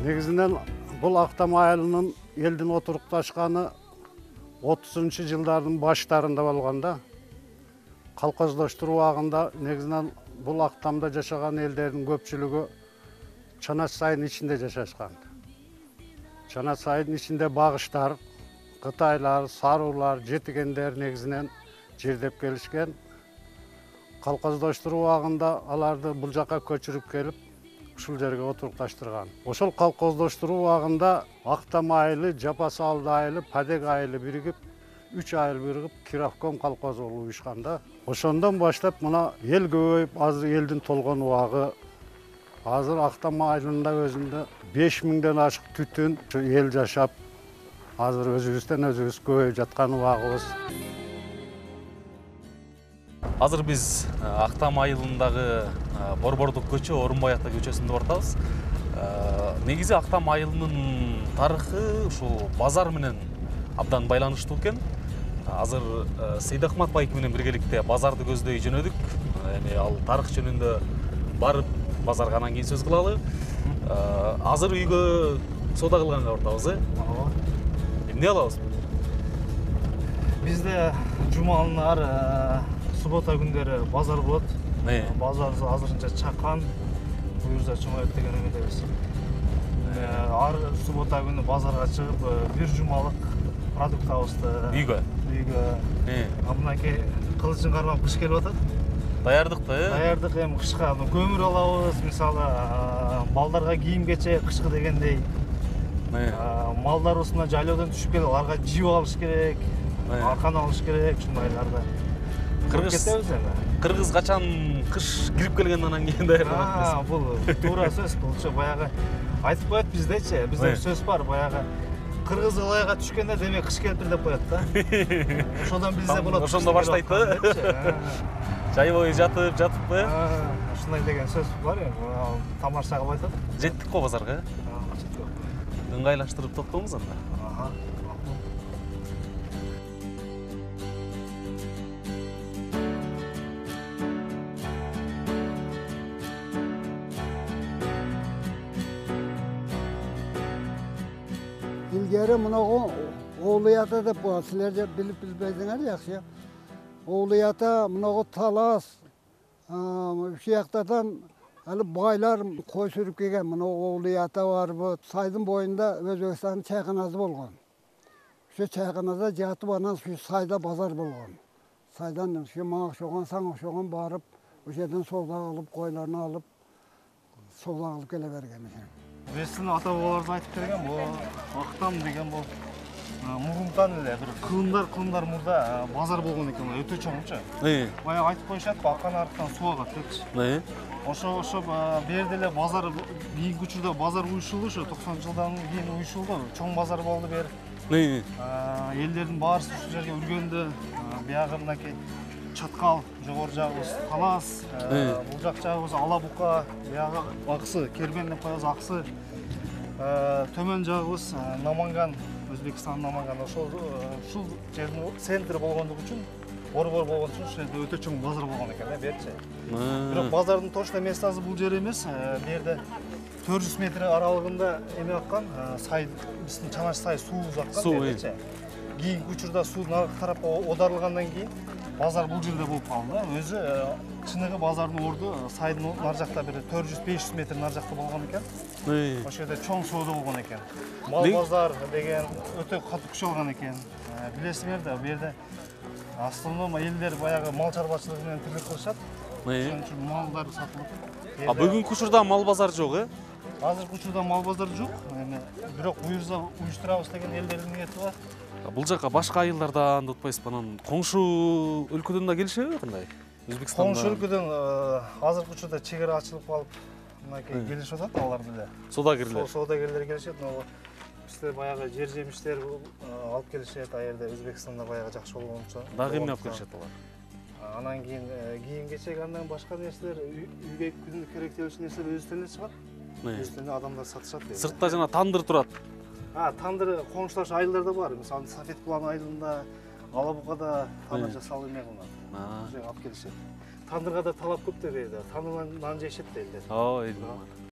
Негизинен бул Актам айылынын элдин отурукташканы 30-жылдардын баштарында болгон да. Колхоздоштуруу убагында негизинен бул Актамда жашаган элдердин көпчүлүгү Чанаш сайдын ичинде жашашкан. Чанаш сайдын ичинде багыштар, кытайлар, саруулар, жетигендер негизинен жердеп келишкен. Колхоздоштуруу убагында аларды бул жака көчүрүп келип, ушул жерге отурукташтырган. Ошол колхоздоштуруу убагында Актам айылы, Жапасалды айылы, Падек айылы биригип, 3 айыл биригип Кировком колхозу болуп уюшкан да. Ошондон баштап мына эл көбөйүп, азыр элдин толгон убагы. Азыр Актам айылында өзүндө 5000ден ашык түтүн эл жашап, азыр өзүбүздөн өзүбүз көбөйүп жаткан убагыбыз. Азыр биз Актам айылындагы Борбордук көчө, Орунбай ата көчөсүндө отурабыз. Негизи Актам айылынын тарыхы ушул базар менен абдан байланыштуу экен. Азыр Сейдахмат байке менен биргеликте базарды көздөй жөнөдүк. Эми ал тарых жөнүндө барып базарга анан кийин сөз кылалы. Азыр үйгө соода кылганга отурабыз, Ооба. Эмне алабыз? Бизде жумалар, суббота күндөрү базар болот. Базар азырынча чакан, буюрса чоңоет деген эмедебиз. Ар суббота күнү базарга чыгып, бир жумалык продуктабызды үйгө. Мынакей кылычын кармап кыш келип атат. Даярдык да, Даярдык эми кышка көмүр алабыз, мисалы балдарга кийим кече кышкы дегендей. Малдарыбыз жайлоодон түшүп келип, аларга жип алыш керек, аркан алыш керек, ушундайларды. Кетебиз эми. Кыргыз качан кыш кирип келгенден анан кийин даярданат. Бул туура сөз, булчу баягы айтып коет биздечи, бизде сөз бар, баягы кыргыз ылайга түшкөндө демек кыш келиптир деп коет да. Ошондон бизде болот. Ошондо баштайт да. Жай бою жатыппы? Ушундай деген сөз бар эми, тамаша кылып айтат. Жеттик го базарга. Ыңгайлаштырып токтоңуз анда. Илгери мынагу Оолуята деп коет. Силер же билип билбейсиңер жакшы. Оолуята мынагу талас, ушул жактардан али байлар кой сүрүп келген. Мынагу Оолуята барбы, сайдын боюнда Өзбекстандын чайканасы болгон. Ошо чайканада жатып анан ушу сайда базар болгон. Сайдан ушу мага окшогон, сага окшогон барып, ошол жерден соода кылып, койлорун алып, соода кылып келе берген экен. Биздин ата бабаларыбыз айтып келген, бул Актам деген бул мурунтан эле бир кылымдар мурда базар болгон экен, өтө чоңчу. Баягы айтып коюшат, акан арыктан суу агат депчи. Ошо берде эле базар кийинки учурда базар уюшулду, ошо 90-жылдан кийин уюшулду. Чоң базар болду бер. Элдердин баарысы ушул жерге үргөндө, биягы мынакей Чаткал, жогору жагыбыз Талас, бул жак жагыбыз Ала Бука, биягы Аксы, Кербен деп коебуз Аксы. Төмөн жагыбыз Наманган, Өзбекстан Наманган. Ушул жердин центри болгондугу үчүн, борбор болгон үчүн ушул жерде өтө чоң базар болгон экен да, берчи. Бирок базардын точно местасы бул жер эмес. Бу жерде 400 метр аралыгында эме аккан, сай, биздин Чанаш сай суубуз аккан берчи. Кийинки учурда суу наркы тарапка оодарылгандан кийин базар бул жерде болуп калды. Өзү чыныгы базардын орду сайдын нар жакта бир 400-500 метр нар жакта болгон экен. Ошол жерде чоң соода болгон экен. Мал базар деген өтө катуу күч алган экен. Билесиңер да, бу жерде основном элдер баягы мал чарбачылыгы менен тиркелип калышат. Ошон үчүн малдар сатылып. Бүгүнкү учурда мал базар жок, Азыркы учурда мал базар жок. Бирок буюрса уюштурабыз деген элдердин ниети бар. Бул жака башка айылдардан утпайсызбы, анан коңшу өлкөдөн да келишеби кандай? Өзбекстандан. Коңшу өлкөдөн азыркы учурда чек ара ачылып калып, мынакей келишип атат алар деле. Соодагерлер. Соодагерлер келишет, бизде баягы жер жемиштер алып келишет, а жерде Өзбекстанда баягы жакшы болгончо. Дагы эмне алып келишет алар? Анан кийин кийим кечек, андан башка нерселер, үйгө күндүк керектелүүчү нерселер өзүнөн чыгат. Өзүнөн адамдар сатышат. Сыртта жана тандыр турат. Тандыр коңшулаш айылдарда бар. Мисалы Сафет Кулан айылында, Ала Букада тандыр жасалып эме кылынат. Ошо алып келишет. Тандырга да талап көп да берди. Тандырдан нан жешет элдер.